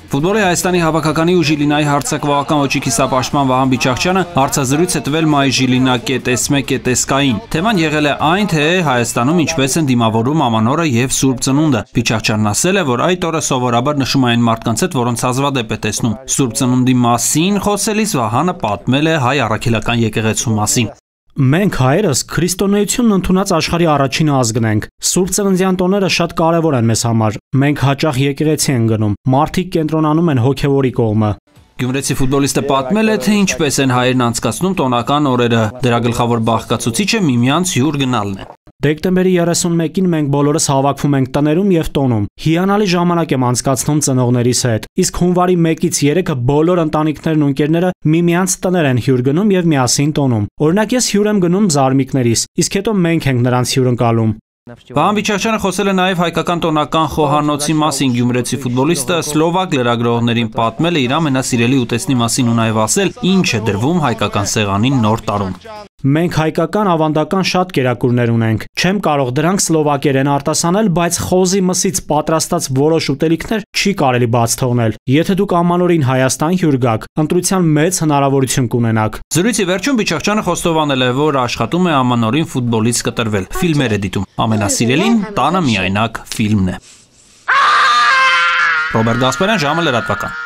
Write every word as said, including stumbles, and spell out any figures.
Ֆուտբոլի Հայաստանի հավաքականի ու Ժիլինայի հարցակվողական ոչի կիսապաշտպան Վահան Բիչաղչյանը հարցազրույց է տվել Մայ Ժիլինա կետ էս էմ կետ էս կային։ Թեման եղել է այն, թե Հայաստանում ինչպես են դիմավորում Ամանորը եւ Սուրբ Ծնունդը։ Բիչաղչյանն ասել է, որ այդ օրը սովորաբար նշում են մարդկանց հետ, որոնց հազվադեպ է տեսնում։ Սուրբ Ծնունդի մասին խոսելիս Վահանը պատմել է հայ առաքելական եկեղեցու մասին։ Մենք հայերս քրիստոնեությունն ընդունած աշխարհի առաջին ազգն ենք։ Սուրբ Ծննդյան տոները շատ կարևոր են մեզ համար։ Մենք հաճախ եկեղեցի ենք գնում։ Մարդիկ կենտրոնանում են հոգևորի կողմը։ Գյումրեցի ֆուտբոլիստը պատմել է, թե ինչպես են հայերն անցկացնում տոնական օրերը։ Դրա գլխավոր բաղկացուցիչը միմյանց հյուր գնալն է։ Դեկտեմբերի երեսունմեկին մենք բոլորս հավաքվում ենք տներում եւ տոնում։ Հիանալի ժամանակ եմ անցկացնում ծնողներիս հետ։ Իսկ հունվարի մեկից երեքը բոլոր ընտանիքներն ու ընկերները միմյանց տներ են հյուր գնում եւ միասին տոնում։ Օրինակ ես հյուր եմ գնում զարմիկներիս, իսկ հետո մենք ենք նրանց հյուր ընկալում։ Վահան Բիչաղչյանը խոսել է նաև հայկական տոնական խոհանոցի մասին։ Գյումրեցի ֆուտբոլիստը սլովակ լրագրողներին պատմել է իր ամենասիրելի ուտեստի մասին ու նաև ասել, ինչ է դրվում հայկական սեղանին նոր տարում։ Մենք հայկական ավանդական շատ կերակուրներ ունենք։ Չեմ կարող դրանք սլովակերեն արտասանել, բայց խոզի մսից պատրաստած որոշ ուտելիքներ չի կարելի բաց թողնել։ Եթե դուք Ամանորին Հայաստան հյուր գաք, ընտրության մեծ հնարավորություն կունենաք։ Զրույցի վերջում Բիչաղչյանը խոստովանել է, որ աշխատում է Ամանորին ֆուտբոլից կտրվել։ Ֆիլմեր է դիտում։ Ամենասիրելին տանը միայնակ ֆիլմն է։ Ռոբերտ Գասպարյան, ժամը լրատվական։